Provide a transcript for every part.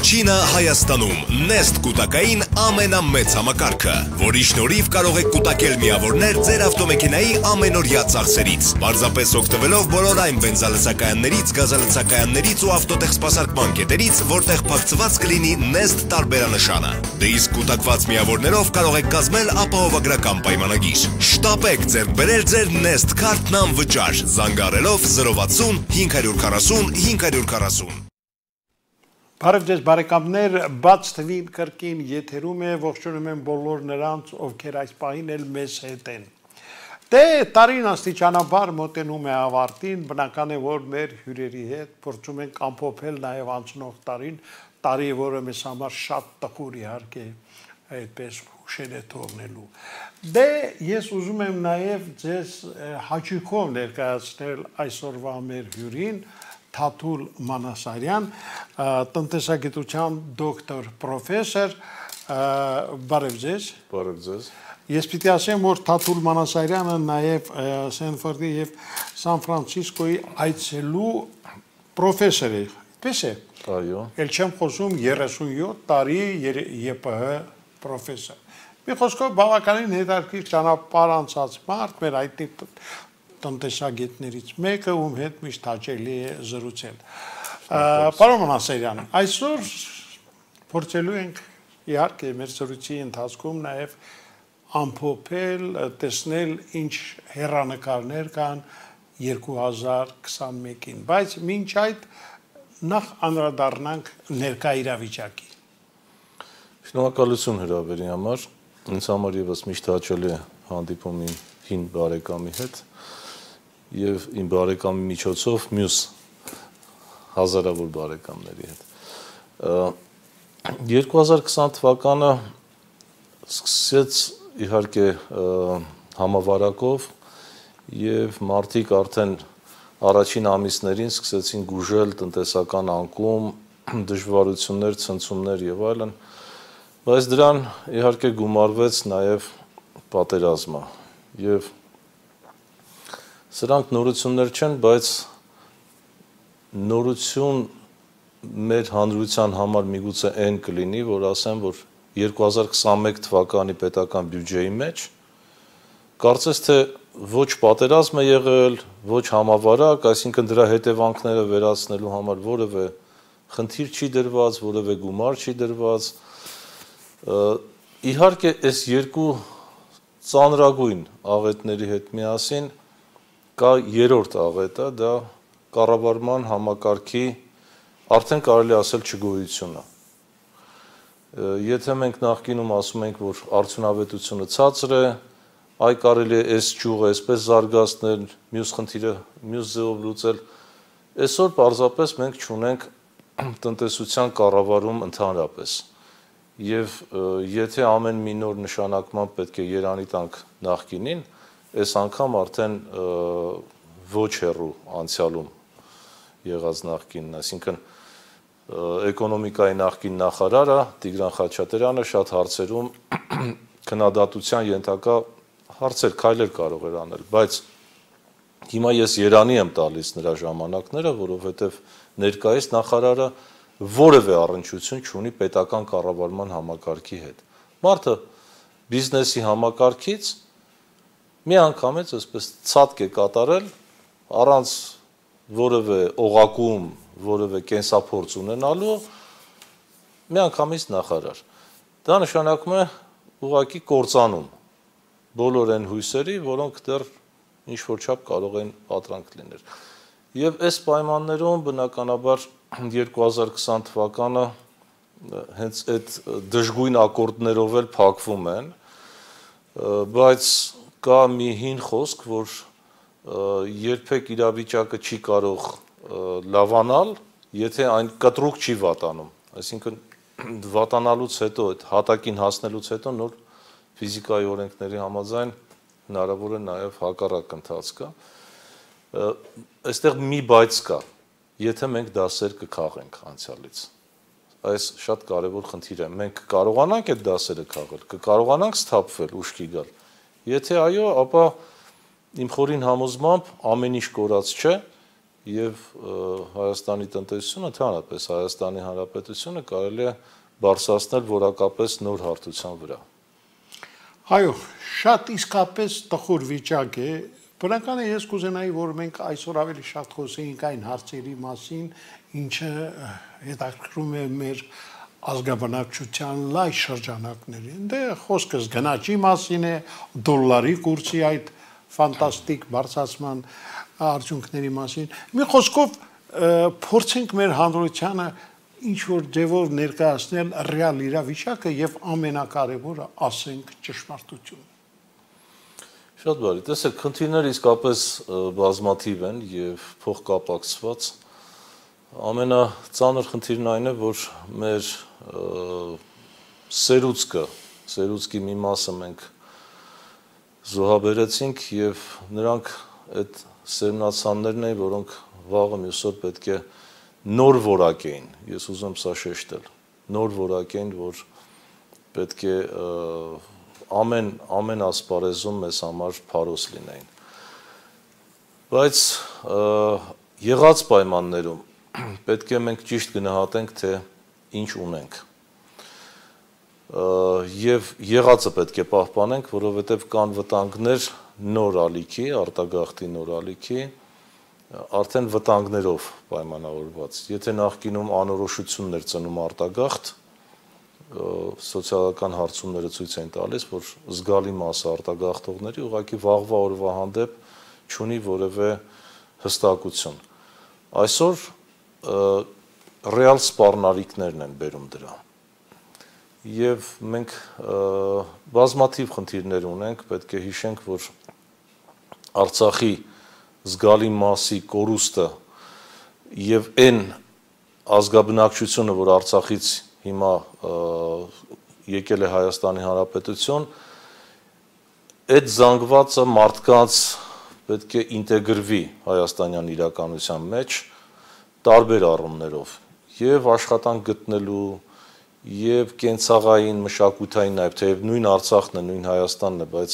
Առաջինը Հայաստանում Nest կուտակային ամենամեծ համակարգը, որի շնորհիվ կարող եք կուտակել միավորներ ձեր ավտոմեքենայի ամենօրյա ծախսերից, պարզապես օգտվելով բոլոր այն բենզալցակայաններից, գազալցակայաններից ու ավտոտեխսպասարկման կետերից, որտեղ փակցված կլինի Nest տարբերանշանը։ Դե իսկ կուտակված միավորներով կարող եք կազմել ապահովագրական պայմանագիր։ Շտապեք ձեռք բերել ձեր Nest քարտն անվճար, զանգահարելով 060 540 540։ Բարև ձեզ բարեկամներ, բաց թվին կրկին եթերում է, ողջունում եմ բոլոր նրանց, ովքեր այս պահին էլ մեզ հետ են։ Դե տարին աստիճանաբար մոտենում է ավարտին, բնական է, որ մեր հյուրերի հետ փորձում ենք ամփոփել նաև անցնող տարի, որը մեզ համար շատ տխուր իհարկե այդպես հուշեր է թողնելու։ Դե ես ուզում եմ նաև ձեզ հաճույքով ներկայացնել այսօրվա մեր հյուրին, Թաթուլ Մանասարյան, տնտեսագիտության դոկտոր, պրոֆեսոր, բարև ձեզ։ Բարև ձեզ։ Ես պիտի ասեմ, որ Թաթուլ Մանասարյանը նաև Սենֆորդի և Սան Ֆրանցիսկոյի այցելու պրոֆեսոր է, պես է։ Այո։ Էլ չեմ խոսում 37 տարի ԵՊՀ պրոֆեսոր։ Մի խոսքով բավականին հետաքրքիր ճանապարհ անցած մարդ, մեր հայտնի տնտեսագետներից մեկը, ում հետ միշտ հաճելի է զրուցել։ Պարոն Մանասարյան, այսօր փորձելու ենք իհարկե մեր զրույցի ընթացքում նաև ամփոփել, տեսնել ինչ հեռանկարներ կան 2021-ին, բայց մինչ այդ նախ անդրադառնանք ներկա իրավիճակի։ Շնորհակալություն հրավերի համար, ինձ համար եւս միշտ հաճելի է հանդիպում իմ հին բարեկամի հետ եւ իմ բարեկամի միջոցով մյուս հազարավոր բարեկամների հետ։ 2020 թվականը սկսեց իհարկե համավարակով եւ մարդիկ արդեն առաջին ամիսներին սկսեցին գուժել տնտեսական անկում, դժվարություններ, ցնցումներ եւ այլն, բայց դրան իհարկե գումարվեց նաեւ պատերազմը եւ սրանք նորություններ չեն, բայց նորություն մեր հանրության համար միգուցե այն կլինի, որ ասեմ, որ 2021 թվականի պետական բյուջեի մեջ կարծես թե ոչ պատերազմ է եղել, ոչ համավարակ, այսինքն դրա հետևանքները վերացնելու համար որևէ խնդիր չի դրված, որևէ գումար չի դրված։ Իհարկե այս երկու ծանրագույն աղետների հետ միասին կա երրորդ աղետը, դա կառավարման համակարգի արդեն կարելի ասել չգոյությունը։ Եթե մենք նախկինում ասում ենք, որ արդյունավետությունը ցածր է, այ կարելի է այս ճյուղը այսպես զարգացնել, մյուս խնդիրը մյուս ձևով լուծել, այսօր պարզապես մենք չունենք տնտեսության կառավարում ընդհանրապես։ Եվ եթե ամեն մի նոր նշանակման պետք է երանի տանք նախկինին, այս անգամ արդեն ոչ հեռու անցյալում եղած նախկինն, այսինքն էկոնոմիկայի նախկին նախարարը Տիգրան Խաչատրյանը շատ հարցերում քննադատության ենթակա հարցեր, քայլեր կարող էր անել, բայց հիմա ես երանի եմ տալիս նրա ժամանակները, որովհետև ներկայիս նախարարը որևէ առնչություն չունի պետական կառավարման համակարգի հետ։ Մարդը բիզնեսի համակարգից մի անգամից այսպես ցածկ է կատարել առանց որևէ օղակում, որևէ կենսափորձ ունենալու մի անգամից նախարար։ Դա նշանակում է ուղղակի կործանում բոլոր այն հույսերի, որոնք դեռ ինչ-որ չափ կարող են պատրանք լինել։ Եվ այս պայմաններում բնականաբար 2020 թվականը հենց այդ դժգույն ակորդներով էլ փակվում են, բայց կա մի հին խոսք, որ երբեք իրավիճակը չի կարող լավանալ, եթե այն կտրուկ չի վատանում, այսինքն վատանալուց հետո, այդ հատակին հասնելուց հետո նոր ֆիզիկայի օրենքների համաձայն հնարավոր է նաև հակառակ ընթացքը։ Այստեղ մի բայց կա, եթե մենք դասեր կքաղենք անցյալից։ Այս շատ կարևոր խնդիր է։ Մենք կարողանանք այդ դասերը քաղել, կկարողանանք սթափվել, ուշքի գալ։ Եթե այո, ապա իմ խորին համոզմամբ ամեն ինչ կորած չէ եւ Հայաստանի տնտեսությունը, ընդհանրապես Հայաստանի Հանրապետությունը կարելի է բարձրացնել որակապես նոր հարթության վրա։ Այո, շատ իսկապես տխուր վիճակ է։ Բնական է, ես կուզենայի, որ մենք այսօր ավելի շատ խոսեինք այն հարցերի մասին, ինչը հետաքրքրում է մեր ազգաբնակչության լայն շրջանակներին։ Դե խոսքս գնաճի մասին է, դոլարի կուրսի այդ ֆանտաստիկ բարձրացման արդյունքների մասին։ Մի խոսքով փորձենք մեր հանրությանը ինչ որ ձևով ներկայացնել ռեալ իրավիճակը եւ ամենակարևորը ասենք ճշմարտությունը։ Շատ բարի, տեսեք, խնդիրները իսկապես բազմաթիվ են եւ փոխկապակցված։ Ամենածանր խնդիրն այն է, որ մեր սերուցքի մի մասը մենք զոհաբերեցինք եւ նրանք այդ սերմնացաններն էին, որոնք վաղը մյուս օր պետք է նոր որակ էին, ես ուզում սա շեշտել, նոր որակ էին, որ պետք է ամեն ասպարեզում մեզ համար փարոս լինեին։ Բայց եղած պայմաններում պետք է մենք ճիշտ գնահատենք, թե ինչ ունենք։ Եվ եղածը պետք է պահպանենք, որովհետև կան վտանգներ նոր ալիքի, արտագաղթի նոր ալիքի, արդեն վտանգներով պայմանավորված։ Եթե նախկինում անորոշություններ ծնում արտագաղթ, սոցիալական հարցումները ցույց են տալիս, որ զգալի մասը արտագաղթողների ուղղակի վաղվա օրվա հանդեպ չունի որևէ հստակություն։ Այսօր ռեալ սպառնալիքներն են բերում դրա։ Եվ մենք բազմաթիվ խնդիրներ ունենք, պետք է հիշենք, որ Արցախի զգալի մասի կորուստը եւ այն ազգաբնակչությունը, որ Արցախից հիմա եկել է Հայաստանի Հանրապետություն, այդ զանգվածը մարդկանց պետք է ինտեգրվի հայաստանյան իրականության մեջ տարբեր առումներով եւ աշխատանք գտնելու եւ կենցաղային, մշակութային նաեւ թեև նույն Արցախն է, նույն Հայաստանն է, բայց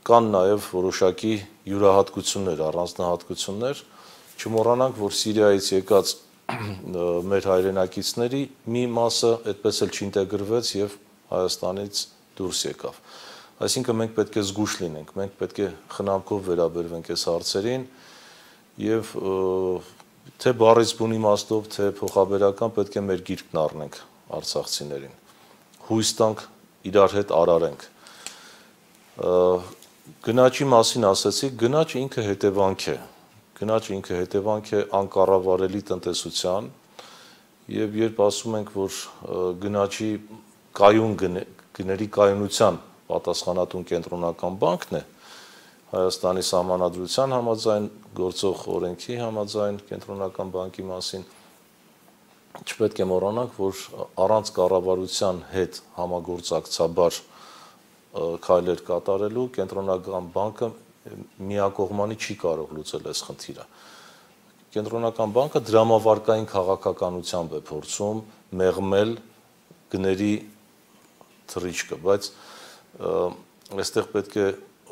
կան նաեւ որոշակի յուրահատկություններ, առանձնահատկություններ, չմոռանանք, որ Սիրիայից եկած մեր հայրենակիցների մի մասը այդպես էլ չինտեգրվեց եւ Հայաստանից դուրս եկավ։ Այսինքն մենք պետք է զգուշ լինենք, մենք պետք է խնամքով վերաբերվենք այս հարցերին եւ թե բառից բուն իմաստով, թե փոխաբերական պետք է մեր գիրկն առնենք արցախցիներին։ Հույս տանք, իրար հետ արարենք։ Գնաճի մասին ասացիք, գնաճը ինքը հետևանք է։ Գնաճը ինքը հետևանք է անկառավարելի տնտեսության եւ երբ ասում ենք, որ գնաճի կայուն գների կայունության պատասխանատուն կենտրոնական բանկն է, Հայաստանի Սահմանադրության համաձայն, գործող օրենքի համաձայն կենտրոնական բանկի մասին, չպետք է մոռանանք, որ առանց կառավարության հետ համագործակցաբար քայլեր կատարելու կենտրոնական բանկը միակողմանի չի կարող լուծել այս խնդիրը։ Կենտրոնական բանկը դրամավարկային քաղաքականությամբ է փորձում մեղմել գների թռիչքը, բայց այստեղ պետք է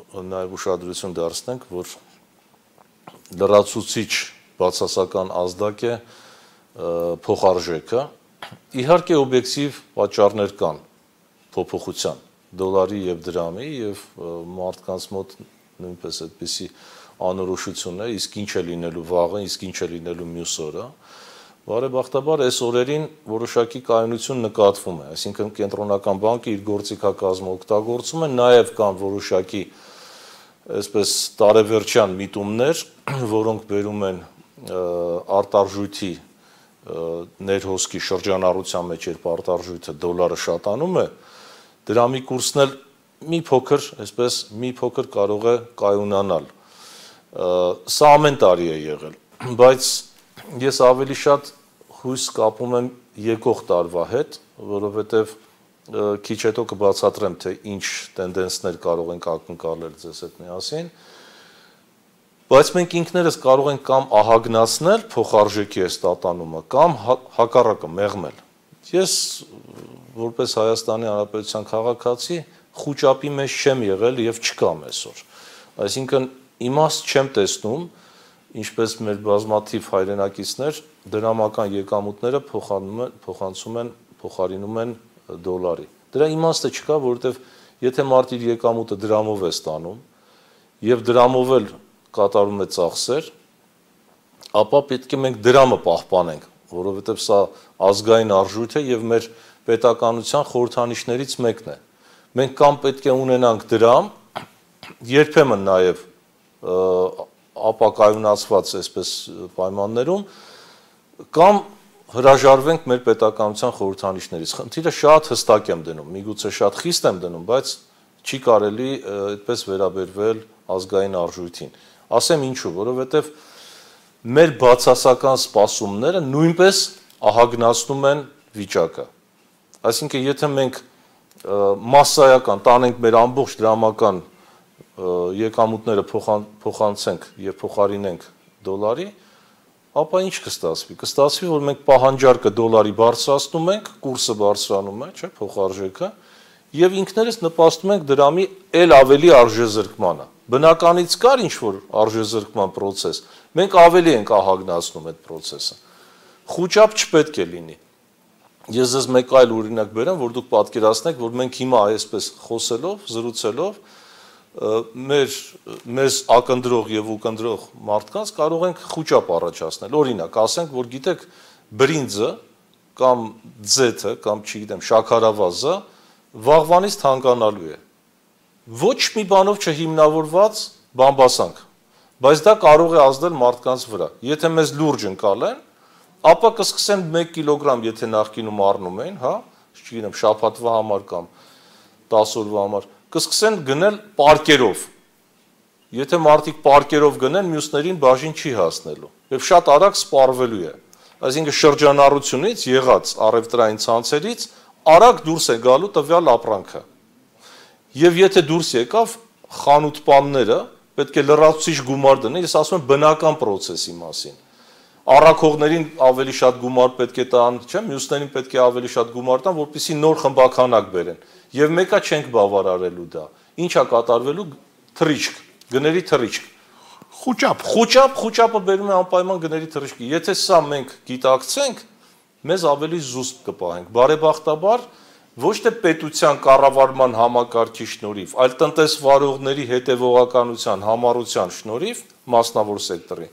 նաև ուշադրություն դարձնենք, որ լրացուցիչ բացասական ազդակ է փոխարժեքը։ Իհարկե օբյեկտիվ պատճառներ կան փոփոխության դոլարի եւ դրամի եւ մարդկանց մոտ նույնպես այդպիսի անորոշություններ, իսկ ինչ է լինելու վաղը, իսկ ինչ է լինելու մյուս օրը։ Բարեբախտաբար այս օրերին որոշակի կայունություն նկատվում է, այսինքն կենտրոնական բանկը իր գործիքակազմը օգտագործում է, նաև կան որոշակի այսպես տարեվերջյան միտումներ, որոնք բերում են արտարժույթի ներհոսքի շրջանառության մեջ, երբ արտարժույթը դոլարը շատանում է, դրամի կուրսն էլ մի փոքր կարող է կայունանալ։ Սա ամեն տարի է եղել, բայց ես ավելի շատ հույս կապում եմ եկող տարվա հետ, որովհետև քիչ հետո կբացատրեմ, թե ինչ տենդենսներ կարող ենք ակնկալել ձեզ հետ միասին, բայց մենք ինքներս կարող ենք կամ ահագնացնել փոխարժեքի այս տատանումը, կամ հակառակը մեղմել։ Ես որպես Հայաստանի Հանրապետության քաղաքացի խուճապի մեջ չեմ եղել եւ չկամ այսօր։ Այսինքն իմաստ չեմ տեսնում ինչպես մեր բազմաթիվ հայրենակիցներ, դրամական եկամուտները փոխարինում են դոլարի։ Դրա իմաստը չկա, որովհետև եթե մարդը իր եկամուտը դրամով է ստանում եւ դրամով էլ կատարում է ծախսեր, ապա պետք է մենք դրամը պահպանենք, որովհետև սա ազգային արժույթ է եւ մեր պետականության խորհրդանիշներից մեկն է։ Մենք կամ պետք է ունենանք դրամ, երբեմն նաեւ ապակայունացված այսպես պայմաններում, կամ հրաժարվենք մեր պետականության խորհրդանիշներից։ Խնդիրը շատ հստակ եմ դնում, միգուցե շատ խիստ եմ դնում, բայց չի կարելի այդպես վերաբերվել ազգային արժույթին։ Ասեմ ինչու, որովհետև մեր բացասական սպասումները նույնպես ահագնացնում են վիճակը։ Այսինքն, եթե մենք մասսայական տանենք մեր ամբողջ դրամական եկամուտները փոխանցենք եւ փոխարինենք դոլարի, ապա ինչ կստացվի։ Կստացվի, որ մենք պահանջարկը դոլարի բարձրացնում ենք, կուրսը բարձրանում է, չէ՞, փոխարժեքը, եւ ինքներս նպաստում ենք դրամի ել ավելի արժեզրկմանը։ Բնականից կար ինչ-որ արժեզրկման process, մենք ավելի ենք ահագնացնում այդ process-ը։ Խոճապ չպետք է լինի։ Ես ձեզ մեկ այլ օրինակ բերեմ, որ դուք պատկերացնեք, որ մենք հիմա այսպես խոսելով, զրուցելով մեզ ակնդրող եւ ուկնդրող մարդկանց կարող ենք խոճապ առաջացնել։ Օրինակ, ասենք, որ գիտեք, բրինձը կամ ձեթը կամ չգիտեմ, շաքարավազը վաղվանից թանկանալու է։ Ոչ մի բանով չհիմնավորված բամբասանք, բայց դա կարող է ազդել մարդկանց վրա։ Եթե մեզ լուրջ ընկալեն, ապա կսկսեն 1 կիլոգրամ, եթե նախկինում առնում էին, հա, չգիտեմ, շաբաթվա համար կամ 10 օրվա համար, կսկսեն գնել պարկերով։ Եթե մարդիկ պարկերով գնեն, մյուսներին բաժին չի հասնելու եւ շատ արագ սպառվելու է։ Այսինքն շրջանառությունից եղած առևտրային ցանցերից արագ դուրս է գալու տվյալ ապրանքը։ Եվ եթե դուրս եկավ, խանութպանները պետք է լրացուցիչ գումար դնեն, ես ասում եմ բնական process-ի մասին։ Առաքողներին ավելի շատ գումար պետք է տան, չէ՞, մյուսներին պետք է ավելի շատ գումար տան, որպեսզի նոր խմբականակ բերեն։ Եվ մեկը չենք բավարարելու դա։ Ինչա կատարվելու թռիչք, գների թռիչք։ Խոճապը բերում է անպայման գների թռիչքի։ Եթե սա մենք գիտակցենք, մեզ ավելի զուսպ կպահենք։ Բարեբախտաբար ոչ թե պետության կառավարման համակարգի շնորհիվ, այլ տնտեսվարողների հետևողականության, համառության շնորհիվ մասնավոր սեկտորի։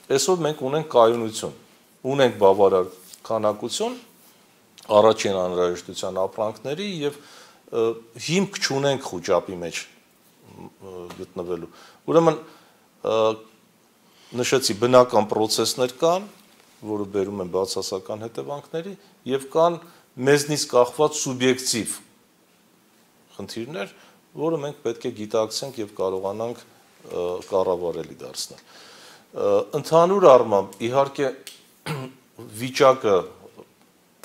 Այսօր մենք ունենք կայունություն, ունենք բավարար քանակություն առաջին անհրաժեշտության ապրանքների եւ հիմք չունենք խոճապի մեջ գտնվելու։ Ուրեմն նշեցի բնական process-ներ կան, որը բերում են բացասական հետևանքների եւ կան մեզնից կախված սուբյեկտիվ խնդիրներ, որը մենք պետք է գիտակցենք եւ կարողանանք կառավարելի դարձնել։ Ընդհանուր առմամբ իհարկե վիճակը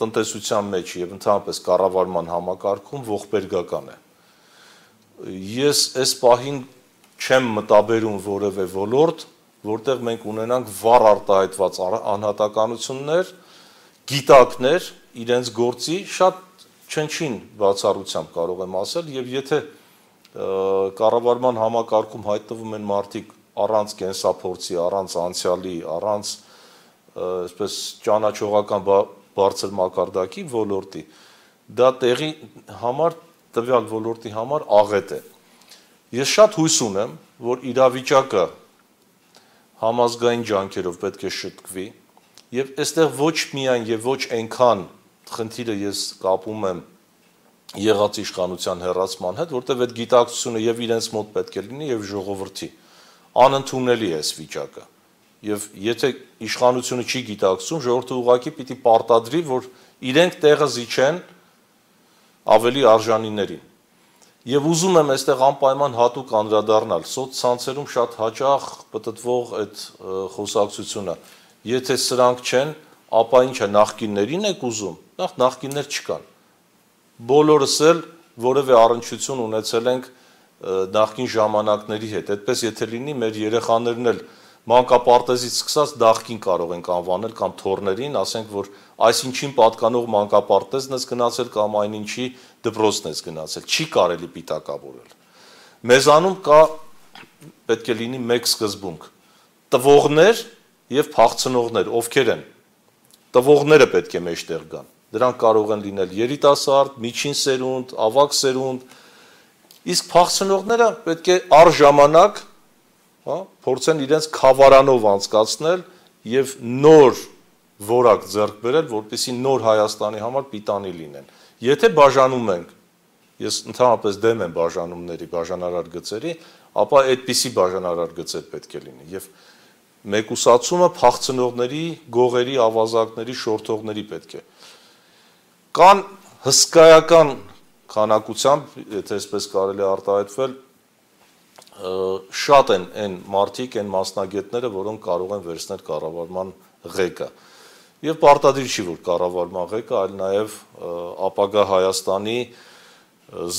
տնտեսության մեջ եւ ընդհանրապես կառավարման համակարգում ողբերգական է։ Ես այս պահին չեմ մտաբերում որևէ ոլորտ, որտեղ մենք ունենանք վառ արտահայտված անհատականություններ, գիտակներ իրենց գործի շատ չնչին բացառությամբ կարող եմ ասել եւ եթե կառավարման համակարգում հայտնվում են մարդիկ առանց կենսափորձի, առանց անցյալի, առանց այսպես ճանաչողական բարձր մակարդակի ոլորտի, դա տեղի համար տվյալ ոլորտի համար աղետ է։ Ես շատ հույս ունեմ, որ իրավիճակը համազգային ջանքերով պետք է շտկվի եւ այստեղ ոչ միայն եւ ոչ այնքան խնդիրը ես կապում եմ եղած իշխանության հեռացման հետ, որտեղ այդ գիտակցությունը եւ իրենց մոտ պետք է լինի եւ ժողովրդի անընդունելի է այս վիճակը։ Եվ եթե իշխանությունը չի գիտակցում, ժողովուրդը ուղղակի պիտի պարտադրի, որ իրենք տեղը զիջեն ավելի արժանիներին։ Եվ ուզում եմ այստեղ անպայման հատուկ անդրադառնալ սոցցանցերում շատ հաճախ պտտվող այդ խոսակցությունը։ Եթե սրանք չեն, ապա ինչ է, նախկիններին եք ուզում։ Նախկիններ չկան։ Բոլորս էլ որևէ առնչություն ունեցել ենք նախկին ժամանակների հետ։ Այդպես եթե լինի, մեր երեխաներն էլ մանկապարտեզից սկսած դաղքին կարող ենք անվանել կամ թորներին, ասենք, որ այսինչին պատկանող մանկապարտեզն ես գնացել կամ այնինչի դպրոցն ես գնացել, չի կարելի պիտակավորել։ Մեզանում կա պետք է լինի մեկ սկզբունք։ տվողներ եւ փախցնողներ, ովքեր են։ Տվողները պետք է մեջտեղ գան։ Դրանք կարող են լինել երիտասարդ, միջին սերունդ, ավագ սերունդ, իսկ փախցնողները պետք է առժամանակ, հա, փորձեն իրենց խավարանով անցկացնել եւ նոր որակ ձեռք բերել, որպեսզի նոր Հայաստանի համար պիտանի լինեն։ Եթե բաժանում ենք, ես ընդհանրապես դեմ եմ բաժանումների, բաժանարար գծերի, ապա այդպիսի բաժանարար գծեր պետք է լինի եւ մեկուսացումը փախցնողների, գողերի, ավազակների, շորթողների պետք է։ Կան հսկայական քանակությամբ, եթե այսպես կարելի արտահայտվել, շատ են այն մարդիկ, այն մասնագետները, որոնք կարող են վերցնել կառավարման ղեկը։ Եվ պարտադիր չի, որ կառավարման ղեկը, այլ նաև ապագա Հայաստանի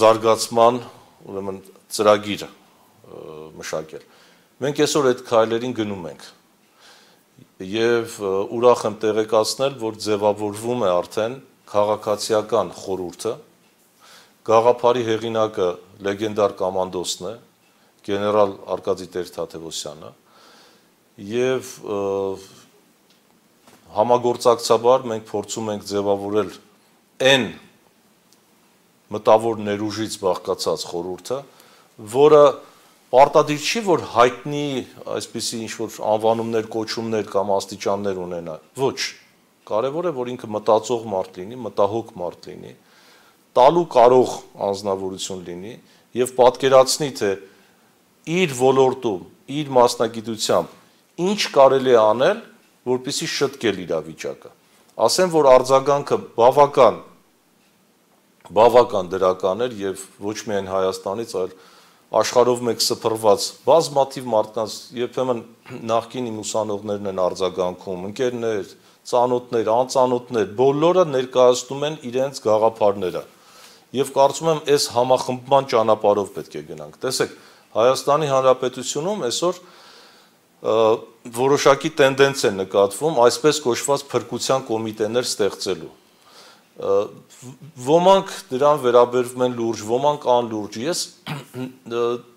զարգացման, ուրեմն ծրագիր մշակել։ Մենք այսօր այդ քայլերին գնում ենք եւ ուրախ եմ տեղեկացնել, որ ձևավորվում է արդեն քաղաքացիական խորհուրդը, գաղափարի հեղինակը լեգենդար կոմանդոսն է, գեներալ Արկադի Տեր-Թադևոսյանը եւ համագործակցաբար մենք փորձում ենք ձևավորել այն մտավոր ներուժից բաղկացած խորհուրդը, որը պարտադիր չի, որ հայտնի այսպիսի ինչ-որ անվանումներ, կոչումներ կամ աստիճաններ ունենա։ Ոչ, կարևոր է, որ ինքը մտածող մարդ լինի, մտահոգ մարդ լինի, տալու կարող անձնավորություն լինի եւ պատկերացնի, թե իր ոլորտում, իր մասնագիտությամբ ինչ կարելի է անել, որպեսզի շտկել իրավիճակը։ Ասեմ, որ արձագանքը բավական դրական էր եւ ոչ միայն Հայաստանից, այլ աշխարհով մեկ սփռված բազմաթիվ մարդկանց, երբեմն նախկին իմ ուսանողներն են արձագանքում, ընկերներ, ծանոթներ, անծանոթներ, բոլորը ներկայացնում են իրենց գաղափարները։ Եվ կարծում եմ, այս համախմբման ճանապարհով պետք է գնանք։ Տեսեք, Հայաստանի Հանրապետությունում այսօր որոշակի տենդենց է նկատվում այսպես կոչված փրկության կոմիտեներ ստեղծելու։ Ոմանք դրան վերաբերվում են լուրջ, ոմանք անլուրջ։ Ես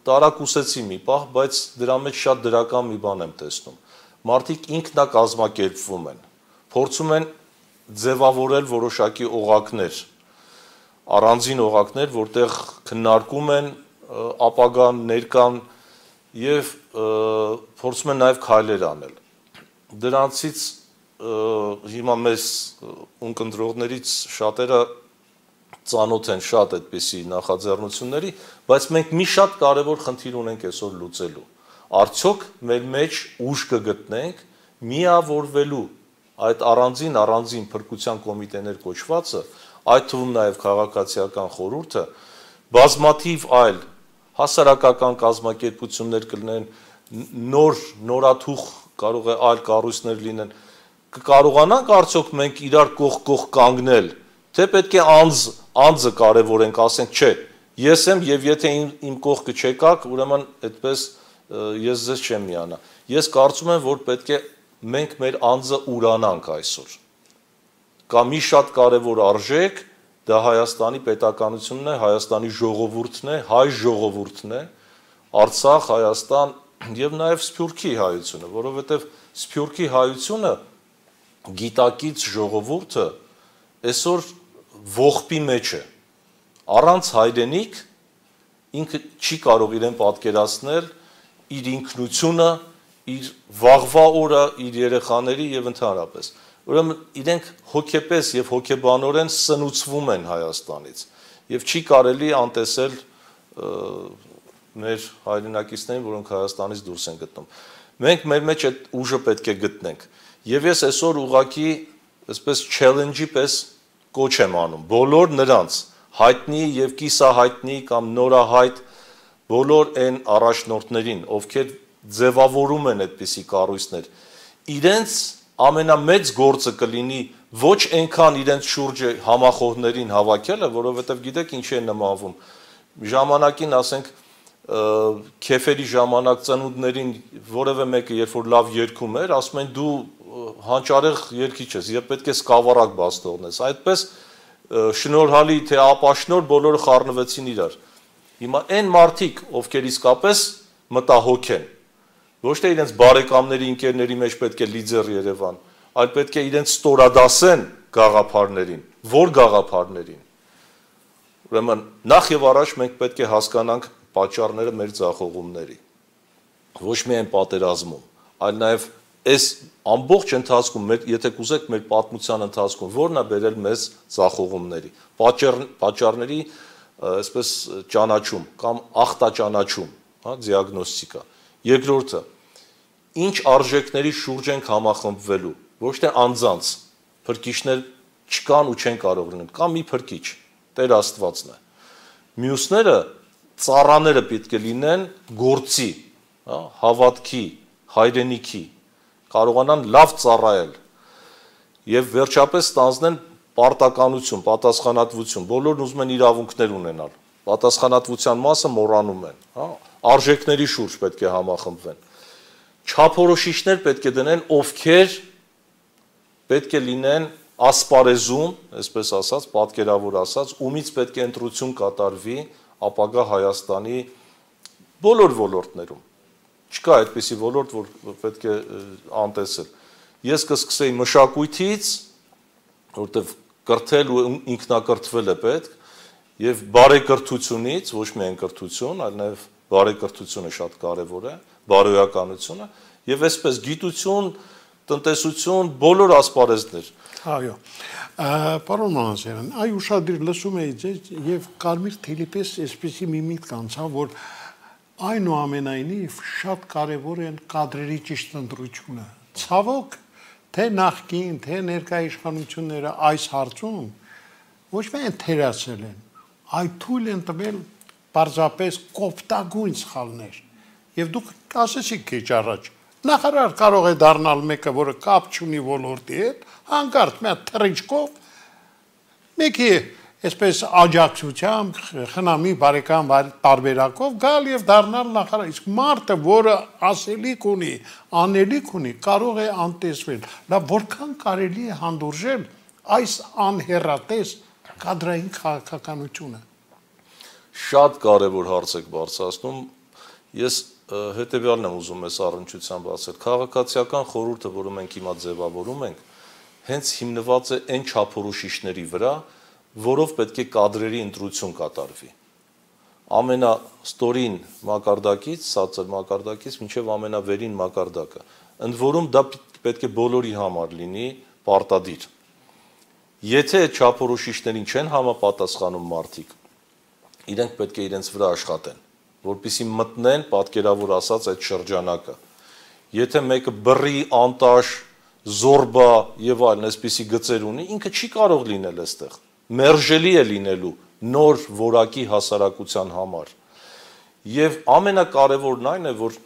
տարակուսեցի մի պահ, բայց դրա մեջ շատ դրական մի բան եմ տեսնում։ Մարդիկ ինքնակազմակերպվում են, փորձում են ձևավորել որոշակի օղակներ, առանձին օղակներ, որտեղ քննարկում են ապագան, ներկան եւ փորձում են նաեւ քայլեր անել։ Դրանցից հիմա մեզ ունկնդրողներից շատերը ծանոթ են շատ այդպիսի նախաձեռնությունների, բայց մենք մի շատ կարևոր խնդիր ունենք այսօր լուծելու։ Արդյոք մեր մեջ ուժ կգտնենք միավորվելու այդ առանձին փրկության կոմիտեներ կոչվածը, այդ թվում նաև քաղաքացիական խորհուրդը, բազմաթիվ այլ հասարակական կազմակերպություններ կլինեն, նորաթուխ կարող է այլ կառույցներ լինեն, կկարողանանք արդյոք մենք իրար կողք կանգնել, թե պետք է անձը կարևորենք, ասենք, չէ, ես եմ եւ եթե իմ կողքը չեկաք, ուրեմն այդպես ես ձեզ չեմ միանա։ Ես կարծում եմ, որ պետք է մենք մեր անձը ուրանանք այսօր։ Կա մի շատ կարևոր արժեք, դա Հայաստանի պետականությունն է, Հայաստանի ժողովուրդն է, հայ ժողովուրդն է, Արցախ, Հայաստան եւ նաեւ Սփյուռքի հայությունը, որովհետեւ Սփյուռքի հայությունը գիտակից ժողովուրդը այսօր ողբի մեջ է։ Առանց հայրենիք ինքը չի կարող իրեն պատկերացնել իր ինքնությունը, իր վաղվա օրը, իր երեխաների եւ ընդհանրապես։ Ուրեմն իրենք հոգեպես եւ հոգեբանորեն սնուցվում են Հայաստանից եւ չի կարելի անտեսել մեր հայրենակիցներին, որոնք Հայաստանից դուրս են գտնում։ Մենք մեր մեջ այդ ուժը պետք է գտնենք։ Եվ ես այսօր ուղղակի այսպես challenge-ի պես կոչ եմ անում բոլոր նրանց հայտնի եւ կիսահայտնի կամ նորահայտ բոլոր այն առաջնորդներին, ովքեր ձևավորում են այդպիսի կառույցներ, իրենց ամենամեծ գործը կլինի ոչ այնքան իրենց շուրջը համախոհներին հավաքելը, որովհետև գիտեք ինչ է նմանվում։ Ժամանակին, ասենք, քեֆերի ժամանակ ծնունդներին որևէ մեկը երբ որ լավ երգում էր, ասում են դու հանճարեղ երգիչ ես, եւ պետք է սկավառակ բաց թողնես։ Այդպես շնորհալի թե ապաշնոր բոլորը խառնվեցին իրար։ Հիմա այն մարդիկ, ովքեր իսկապես մտահոգ են, Ոչ թե իրենց բարեկամների, ընկերների մեջ պետք է լիդեր Երևան, այլ պետք է իրենց ստորադասեն գաղափարներին, որ գաղափարներին։ Ուրեմն նախ եւ առաջ մենք պետք է հասկանանք պատճառները մեր ձախողումների։ Ոչ միայն պատերազմում, այլ նաեւ այս ամբողջ ընթացքում, եթե կուզեք մեր պատմության ընթացքում, որն է բերել մեզ ձախողումների, պատճառների այսպես ճանաչում կամ ախտաճանաչում, հա, դիագնոստիկա։ Երկրորդը, ինչ արժեքների շուրջ ենք համախմբվելու, ոչ թե անձանց, փրկիչներ չկան ու չեն կարող լինել, կամ մի փրկիչ, Տեր Աստվածն է։ Մյուսները ծառաները պետք է լինեն գործի, հա, հավատքի, հայրենիքի, կարողանան լավ ծառայել եւ վերջապես ստանձնեն պարտականություն, պատասխանատվություն, բոլորն ուզում են իրավունքներ ունենալ, պատասխանատվության մասը մոռանում են, հա, արժեքների շուրջ պետք է համախմբվեն, չափորոշիչներ պետք է դնեն, ովքեր պետք է լինեն ասպարեզում, այսպես ասած, պատկերավոր ասած, ումից պետք է ընտրություն կատարվի ապագա Հայաստանի բոլոր ոլորտներում։ Չկա այդպիսի ոլորտ, որ պետք է անտեսել։ Ես կսկսեի մշակույթից, որտեղ կրթել ու ինքնակրթվել է պետք, եւ բարեկրթությունից, ոչ միայն կրթություն, այլ նաեւ բարեկրթությունը շատ կարեւոր է, բարոյականությունը, եւ այսպես գիտություն, տնտեսություն, բոլոր ասպարեզներ։ Այո։ Պարոն Մանասարյան, այ ուշադիր լսում էի ձեզ եւ կարմիր թելիպես այսպեսի մի միտք անցա, որ այնուամենայնիվ շատ կարևոր են կադրերի ճիշտ ընտրությունը։ Ցավոք, թե նախկին, թե ներկա իշխանությունները այս հարցում ոչ միայն թերացել են, այլ թույլ են տվել պարզապես կոպտագույն սխալներ։ Եվ դուք ասեցիք քիչ առաջ, նախարար կարող է դառնալ մեկը, որը կապ չունի ոլորտի հետ, հանկարծ մի հատ թռիչքով մեկի այսպես աջակցությամբ, խնամի բարեկամ տարբերակով գալ եւ դառնալ նախարար։ Իսկ մարդը, որը ասելիք ունի, անելիք ունի, կարող է անտեսվել։ Լավ, որքան կարելի է հանդուրժել այս անհեռատես կադրային քաղաքականությունը։ Շատ կարևոր հարց եք բարձրացնում։ Ես հետեւյալն եմ ուզում ես առնչությամբ ասել։ Քաղաքացիական խորհուրդը, որը մենք հիմա ձևավորում ենք, հենց հիմնված է այն չափորոշիչների վրա, որով պետք է կադրերի ընտրություն կատարվի։ Ամենաստորին մակարդակից, ցածր մակարդակից մինչև ամենավերին մակարդակը։ Ընդ որում դա պետք է բոլորի համար լինի պարտադիր։ Եթե այդ չափորոշիչներին չեն համապատասխանում մարդիկ, իրենք պետք է իրենց վրա աշխատեն, որպեսզի մտնեն, պատկերավոր ասած, այդ շրջանակը։ Եթե մեկը բռի, անտաշ, զորբա եւ այլն այսպիսի գծեր ունի, ինքը չի կարող լինել այստեղ։ Մերժելի է լինելու նոր որակի հասարակության համար։ Եվ ամենակարևորն այն է, որ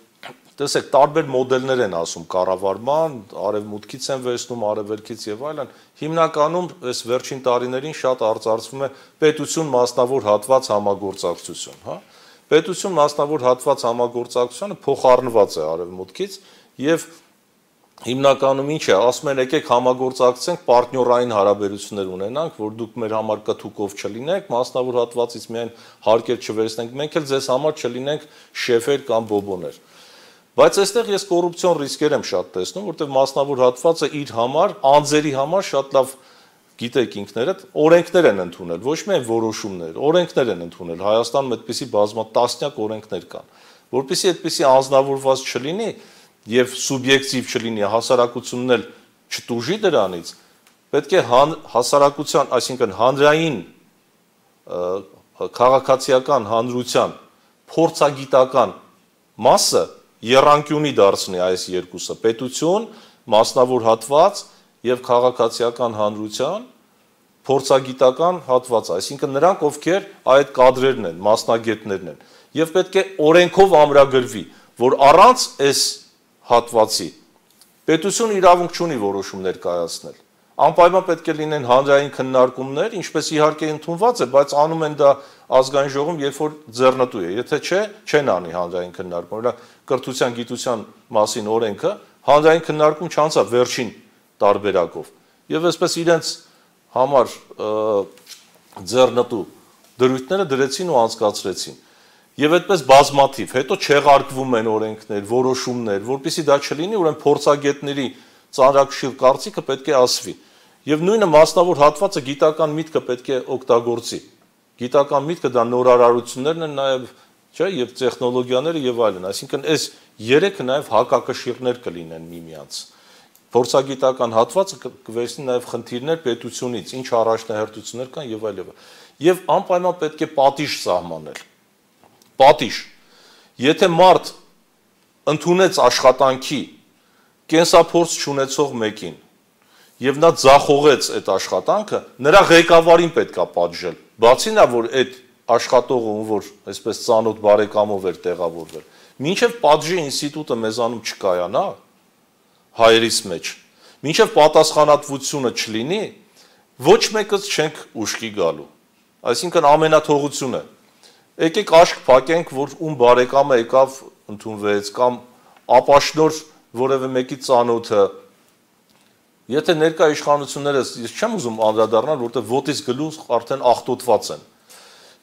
տեսեք, տարբեր մոդելներ են ասում կառավարման, արևմուտքից են վերցնում, արևելքից եւ այլն։ Հիմնականում այս վերջին տարիներին շատ արծարծվում է պետություն մասնավոր հատված համագործակցություն, հա։ Պետություն մասնավոր հատված համագործակցությունը փոխառնված է արևմուտքից եւ հիմնականում ինչ է, ասում են եկեք համագործակցենք, պարտներային հարաբերություններ ունենանք, որ դուք մեր համար կթուկով չլինեք, մասնավոր հատվածից միայն հարկեր չվերցնենք, մենք էլ ձեզ համար չլինենք շեֆեր կամ բոբոներ։ Բայց այստեղ ես կոռուպցիոն ռիսկեր եմ շատ տեսնում, որտեղ մասնավոր հատվածը իր համար, անձերի համար շատ լավ գիտեք ինքներդ, օրենքներ են ընդունել, ոչ միայն որոշումներ, օրենքներ են ընդունել։ Հայաստանում այդպիսի բազմատասնյակ օրենքներ կան, որպեսզի այդպիսի անձնավորված չլինի եւ սուբյեկտիվ չլինի, հասարակությունն էլ չտուժի դրանից, պետք է հասարակության, այսինքն հանրային քաղաքացիական հանրության փորձագիտական մասը եռանկյունի դարձնի այս երկուսը՝ պետություն, մասնավոր հատված եւ քաղաքացիական հանրության փորձագիտական հատված, այսինքն նրանք, ովքեր այդ կադրերն են, մասնագետներն են, եւ պետք է օրենքով ամրագրվի, որ առանց այս հատվածի պետություն իրավունք չունի որոշումներ կայացնել։ Անպայման պետք է լինեն հանրային քննարկումներ, ինչպես իհարկե ընդունված է, բայց անում են դա ազգային ժողովում, երբ որ ձեռնտու է, եթե չէ, չեն անի հանրային քննարկում։ Օրինակ կրթության, գիտության մասին օրենքը հանրային քննարկում չանցավ վերջին տարբերակով։ Եվ այսպես իրենց համար ձեռնտու դրույթները դրեցին ու անցկացրեցին։ Եվ այդպես բազմաթիվ, հետո չեղարկվում են օրենքներ, որոշումներ, որպեսզի դա չլինի, ուրեմն փորձագետների ծանրակշիռ կարծիքը պետք է ասվի։ Եվ նույնը մասնավոր հատվածը գիտական միտքը պետք է օգտագործի։ Գիտական միտքը դա նորարարություններն են նաև, չէ, եւ տեխնոլոգիաները եւ այլն, այսինքն այս երեքը նաև հակակշիռներ կլինեն միմյանց։ Փորձագիտական հատվածը կվերցնի նաև խնդիրներ պետությունից, ինչ առաջնահերթություններ կան եւ այլն։ Եվ անպայման պետք է պատիժ սահմանել։ Պատիժ։ Եթե մարդ ընդունեց աշխատանքի կենսափորձ չունեցող մեկին եւ նա ձախողեց այդ աշխատանքը, նրա ղեկավարին պետքա պատժել։ Բացի նա, որ այդ աշխատողը, որ այսպես ծանոթ բարեկամով էր տեղավորվել, մինչեւ պատժի ինստիտուտը մեզանում չկայանա հայերիս մեջ, մինչեւ պատասխանատվությունը չլինի, ոչ մեկից չենք ուշքի գալու։ Այսինքն ամենաթողությունը։ Եկեք աշկ փակենք, որ ում բարեկամը եկավ ընդունվեց կամ ապաշնոր որևէ մեկի ծանոթը։ Եթե ներկա իշխանությունները, ես չեմ ուզում անդրադառնալ, որտեղ ոտից գլուխ արդեն աղտոտված են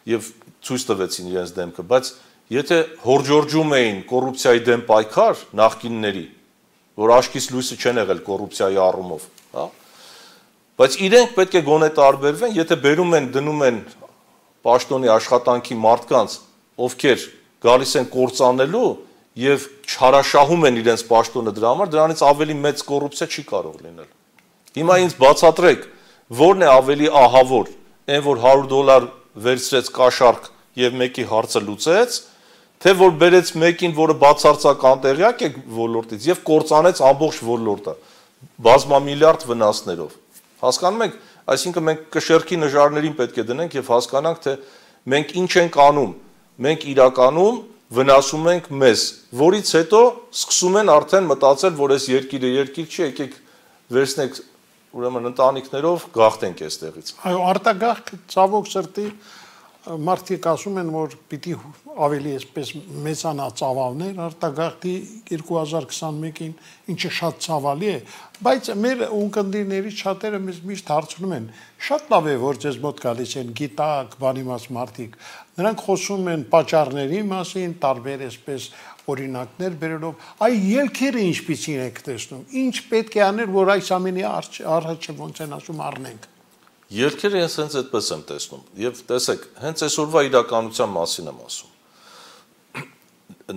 եւ ցույց տվեցին իրենց դեմքը, բայց եթե հորջորջում էին կոռուպցիայի դեմ պայքար նախկինների, որ աշկից լույսը չեն եղել կոռուպցիայի առումով, հա, բայց իրենք պետք է գոնե տարբերվեն, եթե բերում են դնում են պաշտոնի աշխատանքի մարդկանց, ովքեր գալիս են կործանելու եւ չհարաշահում են իրենց պաշտոնը դրա համար, դրանից ավելի մեծ կոռուպցիա չի կարող լինել։ Հիմա ինձ բացատրեք, որն է ավելի ահավոր, այն որ $100 վերցրեց կաշառք եւ մեկի հարցը լուծեց, թե որ բերեց մեկին, որը բացարձակ անտեղյակ է ոլորտից եւ կործանեց ամբողջ ոլորտը բազմամիլիարդ վնասներով։ Հասկանում եք, այսինքն մենք կշեռքի նժարներին պետք է դնենք եւ հասկանանք, թե մենք ինչ ենք անում։ Մենք իրականում վնասում ենք մեզ, որից հետո սկսում են արդեն մտածել, որ այս երկիրը երկիր չի, եկեք վերցնեք ուրեմն ընտանիքներով գաղթենք այստեղից։ Այո, արտագաղթ ցավոք սրտի մարդիկ ասում են, որ պիտի ավելի այսպես մեծանա ծավալներ արտագաղթի 2021-ին, ինչը շատ ցավալի է, բայց մեր ունկնդիրներից շատերը մեզ միշտ հարցնում են, շատ լավ է, որ ձեզ մոտ գալիս են գիտակ, բանիմաց մարդիկ, նրանք խոսում են պատճառների մասին, տարբեր այսպես օրինակներ բերելով, այ ելքերը ինչպիսին եք տեսնում, ինչ պետք է անել, որ այս ամենի առաջը ոնց են ասում առնենք։ Ելքերը ես հենց այդպես եմ տեսնում, եւ տեսեք, հենց այսօրվա իրականության մասին եմ ասում։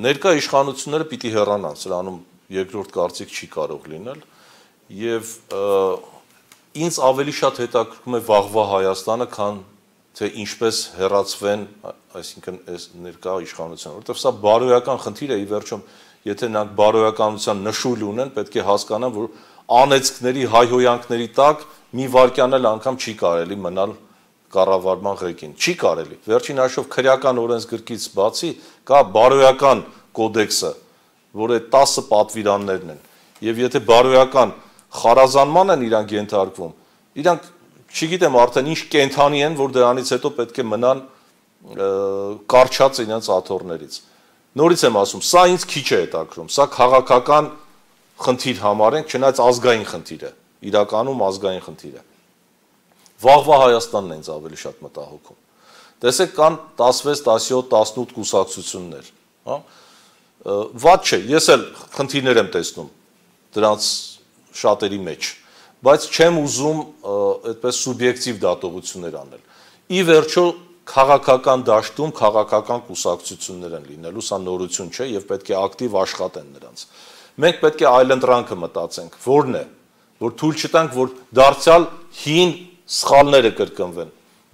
Ներկա իշխանությունները պիտի հեռանան, սրանում երկրորդ կարծիք չի կարող լինել, եւ ինձ ավելի շատ հետաքրքրում է վաղվա Հայաստանը, քան թե ինչպես հեռացվեն, այսինքն այս ներկա իշխանությունը, որովհետեւ սա բարոյական խնդիր է, ի վերջո, եթե նրանք բարոյականության նշույլ ունեն, պետք է հասկանան, որ անեծքների, հայհոյանքների տակ մի վարքյան էլ անգամ չի կարելի մնալ կառավարման ղեկին, չի կարելի։ Վերջին հաշվով քրեական օրենսգրքից բացի կա բարոյական կոդեքսը, որը 10 պատվիրաններն են, եւ եթե բարոյական խարազանման են իրանք ենթարկվում, իրանք չգիտեմ արդեն ինչ կենթանի են, որ դրանից հետո պետք է մնան կարճած իրենց աթոռներից։ Նորից եմ ասում, սա ինձ քիչ է հետաքրում, սա քաղաքական խնդիր համարենք, չնայած ազգային խնդիր է, իրականում ազգային խնդիր է։ Վաղվա Հայաստանն է ինձ ավելի շատ մտահոգում։ Տեսեք, կան 16, 17, 18 կուսակցություններ, հա։ Վատ չէ, ես էլ խնդիրներ եմ տեսնում դրանց շատերի մեջ, բայց չեմ ուզում այդպես սուբյեկտիվ դատողություններ անել։ Ի վերջո քաղաքական դաշտում քաղաքական կուսակցություններ են լինելու, սա նորություն չէ եւ պետք է ակտիվ աշխատեն նրանց։ Մենք պետք է այլընտրանքը մտածենք, որն է, որ թույլ չտանք, որ դարձյալ հին սխալները կրկնվեն։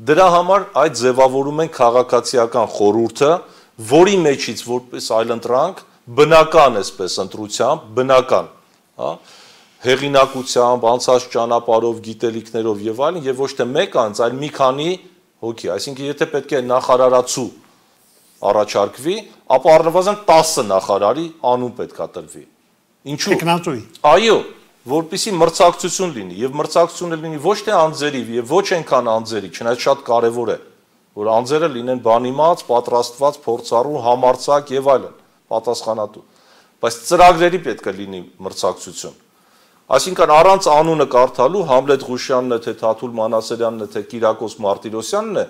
Դրա համար այդ ձևավորում են քաղաքացիական խորհուրդը, որի մեջից որպես այլընտրանք բնական այսպես ընտրությամբ, բնական, հա, հեղինակությամբ, անցած ճանապարհով, գիտելիքներով եւ այլն, եւ ոչ թե մեկ անձ, այլ մի քանի հոգի, այսինքն եթե պետք է նախարարացու առաջարկվի, ապա առնվազն 10 նախարարի անուն պետքա տրվի։ Ինչու՞։ Տեխնատուի։ Այո, որպեսզի մրցակցություն լինի եւ մրցակցությունը լինի ոչ թե անձերի եւ ոչ այնքան անձերի, չնայած շատ կարեւոր է, որ անձերը լինեն բանիմաց, պատրաստված, փորձառու, համարձակ եւ այլն, պատասխանատու, բայց ծրագրերի պետք է լինի մրցակցություն։ Այսինքն առանց անունը կարդալու Համլետ Ղուշյանն է, թե Թաթուլ Մանասերյանն է, թե Կիրակոս Մարտիրոսյանն է,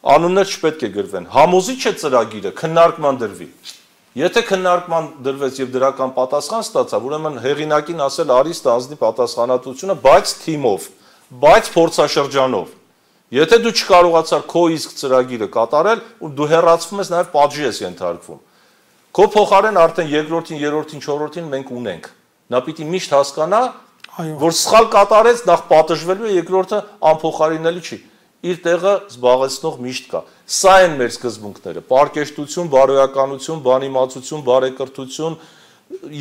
անուններ չպետք է գրվեն։ Համոզիչ է ծրագիրը, քննարկման դրվի։ Եթե քննարկման դրվեց եւ դրական պատասխան ստացավ, ուրեմն հեղինակին ասել արի ստանձնի պատասխանատվությունը, բայց թիմով, բայց փորձաշրջանով։ Եթե դու չկարողացար քո իսկ ծրագիրը կատարել, դու հեռացվում ես նաեւ պատժի ես ենթարկվում։ Քո փոխարեն արդեն երկրորդին, երրորդին, չորրորդին մենք ունենք։ Նա պիտի միշտ հասկանա, որ սխալ կատարեց, նախ պատժվելու է, երկրորդը անփոխարինելի չի։ Իր տեղը զբաղեցնող միշտ կա։ Սա են մեր սկզբունքները՝ պարկեշտություն, բարոյականություն, բանիմացություն, բարեկրթություն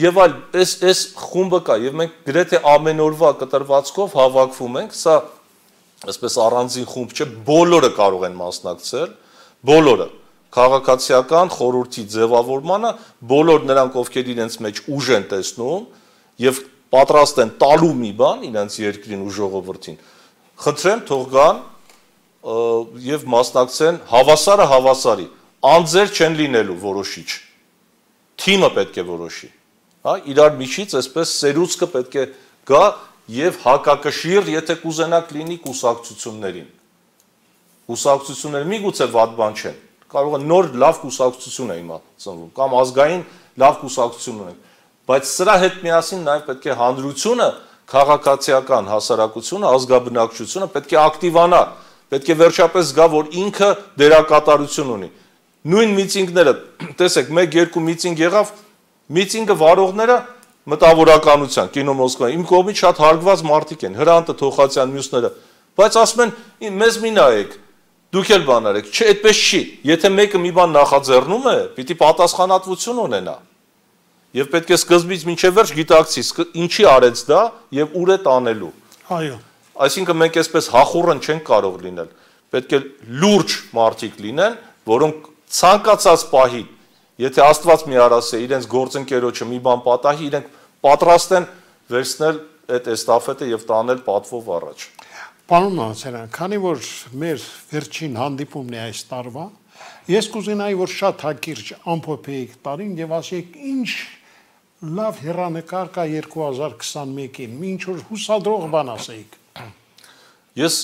եւ այլ, այս խումբը կա եւ մենք գրեթե ամեն օրվա կտրվածքով հավաքվում ենք, սա այսպես առանձին խումբ չէ, բոլորը կարող են մասնակցել, բոլորը քաղաքացիական խորհրդի ձևավորմանը, բոլոր նրանք, ովքեր իրենց մեջ ուժ են տեսնում եւ պատրաստ են տալու մի բան իրենց երկրին ու ժողովրդին, խնդրեմ թող գան եւ մասնակցեն հավասարը հավասարի, անձեր չեն լինելու որոշիչ, թիմը պետք է որոշի, հա, իրար միջից այսպես սերուցքը պետք է գա եւ հակակշիռ, եթե կուզենաք լինի կուսակցություններին։ Կուսակցությունները միգուցե վատ բան չեն, կարող է նոր լավ կուսակցություն է հիմա ծնվում, կամ ազգային լավ կուսակցություն ունենք, բայց սրա հետ միասին նաեւ պետք է հանրությունը, քաղաքացիական հասարակությունը, ազգաբնակչությունը պետք է ակտիվանա, պետք է վերջապես գա, որ ինքը դերակատարություն ունի։ Նույն միտինգները, տեսեք, 1-2 միտինգ եղավ, միտինգը վարողները մտավորականության, կինո Մոսկվա, իմ կողմից շատ հարգված մարդիկ են, Հրանտը, Թոխացյան, մյուսները, բայց ասում են, մեզ մի նայեք, դուք էլ բան արեք, չէ, այդպես չի, եթե մեկը մի բան նախաձեռնում է, պիտի պատասխանատվություն ունենա, եւ պետք է սկզբից մինչեւ վերջ գիտակցի, ինչի արեց դա եւ ուր է տանելու։ Այո։ Այսինքն մենք այսպես հախուռն չենք կարող լինել, պետք է լուրջ մարդիկ լինեն, որոնք ցանկացած պահի, եթե Աստված մի արասե իրենց գործընկերոջը մի բան պատահի, իրենք պատրաստ են վերցնել այդ էստաֆետը եւ տանել պատվով առաջ։ Պարոն Նացարյան, քանի որ մեր վերջին հանդիպումն է այս տարվա, ես կուզենայի, որ շատ հակիրճ ամփոփեիք տարին եւ ասեիք ինչ լավ հեռանկար կա 2021-ին, ինչ որ հուսադրող բան ասեիք։ Ես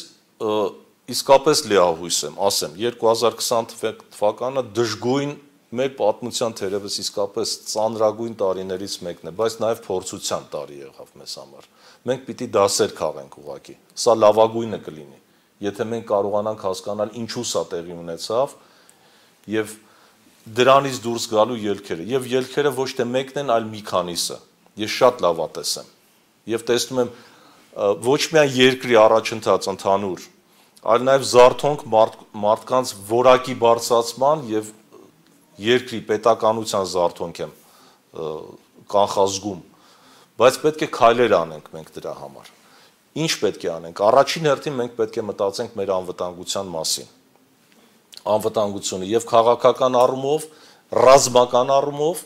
իսկապես լիահույս եմ, ասեմ, 2020 թվականը դժգույն մեր պատմության թերևս իսկապես ծանրագույն տարիներից մեկն է, բայց նաև փորձության տարի եղավ մեզ համար։ Մենք պիտի դասեր քաղենք ուղղակի։ Սա լավագույնը կլինի, եթե մենք կարողանանք հասկանալ ինչու սա տեղի ունեցավ եւ դրանից դուրս գալու ելքերը։ Եվ ելքերը ոչ թե մեկն են, այլ մի քանիսը։ Ես շատ լավատես եմ։ Եվ տեսնում եմ ոչ միայն երկրի առաջընթաց ընդհանուր, այլ նաև զարթոնք մարդկանց որակի բարձրացման եւ երկրի պետականության զարթոնք եմ կանխազգում, բայց պետք է քայլեր անենք մենք դրա համար։ Ինչ պետք է անենք։ Առաջին հերթին մենք պետք է մտածենք մեր անվտանգության մասին։ Անվտանգությունը եւ քաղաքական առումով, ռազմական առումով,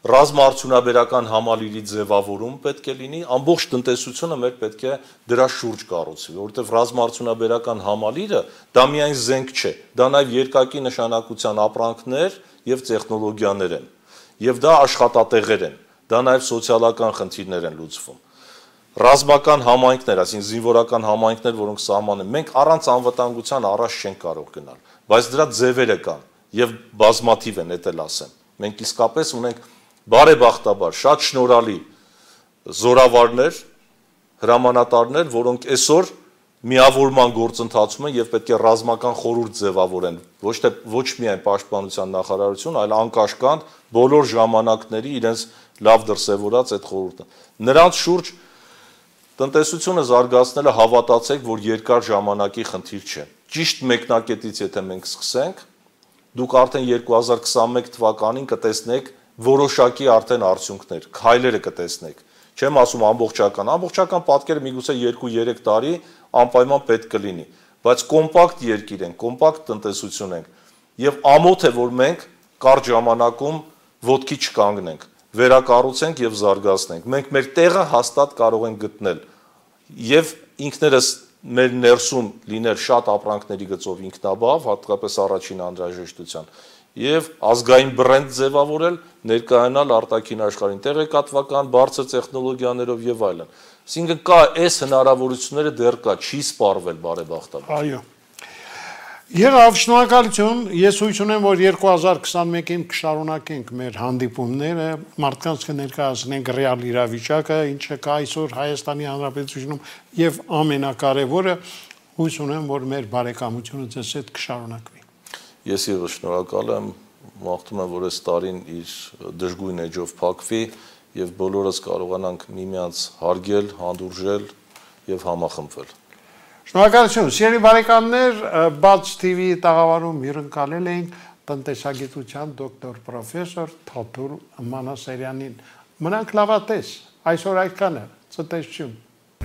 ռազմաարդյունաբերական համալիրի ձևավորում պետք է լինի, ամբողջ տնտեսությունը մեր պետք է դրա շուրջ կառուցվի, որովհետեւ ռազմաարդյունաբերական համալիրը դա միայն զենք չէ, դա նաեւ երկակի նշանակության ապրանքներ եւ տեխնոլոգիաներ են, եւ դա աշխատատեղեր են, դա նաեւ սոցիալական խնդիրներ են լուծվում։ Ռազմական համայնքներ, այսինքն զինվորական համայնքներ, որոնք սահման են, մենք առանց անվտանգության առաջ չենք կարող գնալ, բայց դրա ձևերը կան եւ բազմաթիվ են, դա էլ ասեմ։ Մենք իսկապես ունենք բարեբախտաբար շատ շնորհալի զորավարներ, հրամանատարներ, որոնք այսօր միավորման գործընթացում են եւ պետք է ռազմական խորհուրդ ձևավորեն, ոչ միայն պաշտպանության նախարարություն, այլ անկաշկանդ բոլոր ժամանակների իրենց լավ դրսևորած այդ խորհուրդը։ Նրանց շուրջ տնտեսությունը զարգացնելը հավատացեք, որ երկար ժամանակի խնդիր չէ։ Ճիշտ մեկնակետից եթե մենք սկսենք, դուք արդեն 2021 թվականին կտեսնեք որոշակի արդեն արդյունքներ, քայլերը կտեսնեք։ Չեմ ասում ամբողջական պատկերը միգուցե 2-3 տարի անպայման պետք կլինի, բայց կոմպակտ երկիր ենք, կոմպակտ տնտեսություն ենք եւ ամոթ է, որ մենք կարճ ժամանակում ոտքի չկանգնենք, վերակառուցենք եւ զարգացնենք։ Մենք մեր տեղը հաստատ կարող ենք գտնել եւ ինքներս մեր ներսում լինել շատ ապրանքների գծով ինքնաբավ, հատկապես առաջին անհրաժեշտության եւ ազգային բրենդ ձևավորել, ներկայանալ արտաքին աշխարհին տեղեկատվական, բարձր տեխնոլոգիաներով եւ այլն։ Այսինքն կա այս հնարավորությունները դեռ կա, չի սպառվել բարեբախտաբար։ Այո։ Եղավ, շնորհակալություն։ Ես հույս ունեմ, որ 2021-ին կշարունակենք մեր հանդիպումները, մարդկանց կներկայացնենք ռեալ իրավիճակը, ինչը կա այսօր Հայաստանի Հանրապետությունում, եւ ամենակարևորը, հույս ունեմ, որ մեր բարեկամությունը ձեզ հետ կշարունակվի։ Ես ևս շնորհակալ եմ, մաղթում եմ, որ այս տարին իր դժգույն էջով փակվի եւ բոլորս կարողանանք միմյանց հարգել, հանդուրժել եւ համախմբվել։ Շնորհակալություն, սիրելի բարեկամներ, Բաց TV տաղավարում հյուրընկալել էինք տնտեսագիտության դոկտոր պրոֆեսոր Թաթուլ Մանասարյանին։ Մնանք լավատես, այսօր այդքանը, ցտեսություն։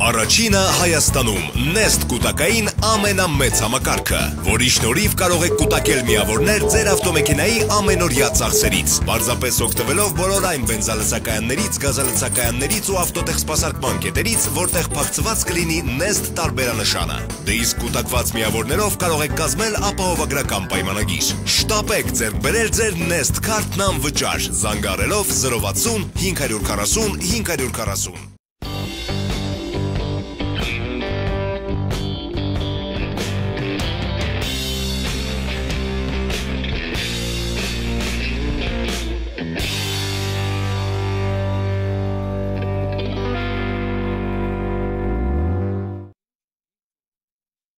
Առաջինը Հայաստանում Nest կուտակային ամենամեծ համակարգը, որի շնորհիվ կարող եք կուտակել միավորներ ձեր ավտոմեքենայի ամենօրյա ծախսերից, պարզապես օգտվելով բոլոր այն բենզալցակայաններից, գազալցակայաններից ու ավտոտեխսպասարկման կետերից, որտեղ փակցված կլինի Nest տարբերանշանը։ Դե իսկ կուտակված միավորներով կարող եք կազմել ապահովագրական պայմանագիր։ Շտապեք ձեռք բերել ձեր Nest քարտն անվճար, զանգահարելով 060 540 540։